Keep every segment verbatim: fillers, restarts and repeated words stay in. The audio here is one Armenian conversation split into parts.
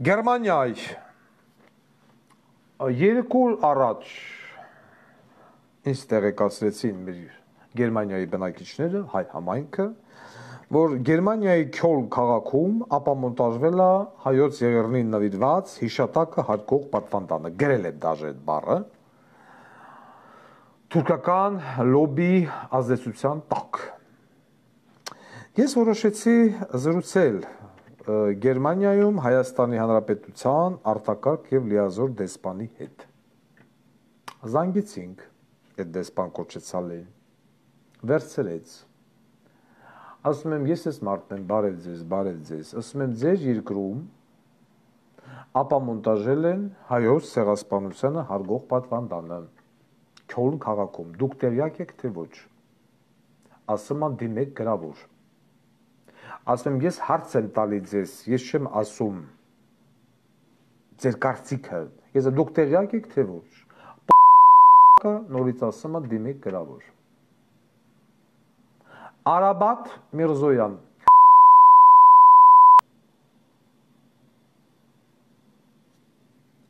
Գերմանիայի երկու օր առաջ ինձ տեղեկացրեցին մեր Գերմանիայի բնակիչները, հայ համայնքը, որ Գերմանիայի Քյոլն քաղաքում ապամոնտաժվել է հայոց եղեռնին նվիրված հիշատակը հարգող պատվանդանը, գրել է դաժե այդ բառը, թուրքական լոբի ազդեցության տակ։ Ես որոշեցի զրուցել Գերմանիայում Հայաստանի Հանրապետության արտակարգ և լիազոր դեսպանի հետ։ Զանգեցինք այդ դեսպան կոչեցալին, վերցրեց, ասում եմ ես ես մարդն եմ, բարև ձեզ, բարև ձեզ, ասում եմ ձեր երկրում ապամոնտաժել են հայոց ցեղասպանությանը հարգող պատվանդանը Քյոլն քաղաքում, դուք տեղյակ եք թե ոչ, ասում եմ դիմեք գրավոր, ասում եմ ես հարց եմ տալի ձեզ, ես չեմ ասում ձեր կարծիքը, ես դուք տեղյակ եք թե ոչ, նորից ասում եմ դիմեք գրավոր, Արաբատ Միրզոյան,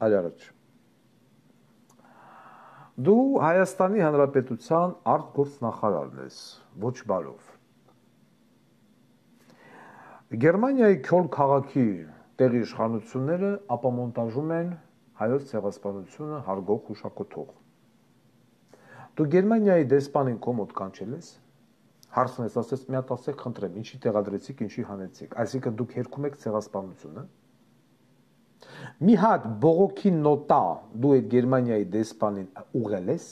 այլ առաջ, դու Հայաստանի Հանրապետության արտգործնախարարն ես, ոչ բարով, Գերմանիայի Քյոլ քաղաքի տեղի իշխանությունները ապամոնտաժում են հայոց ցեղասպանությունը հարգող հուշակոթող։ Դու Գերմանիայի դեսպանին քո մոտ կանչել ես, հարցն ես, ասես մի հատ ասեք, խնդրեմ, ինչի տեղադրեցիք, ինչի հանեցիք, այսինքն դուք հերքում եք ցեղասպանությունը։ Մի հատ բողոքի նոտա դու այդ Գերմանիայի դեսպանին ուղղել ես,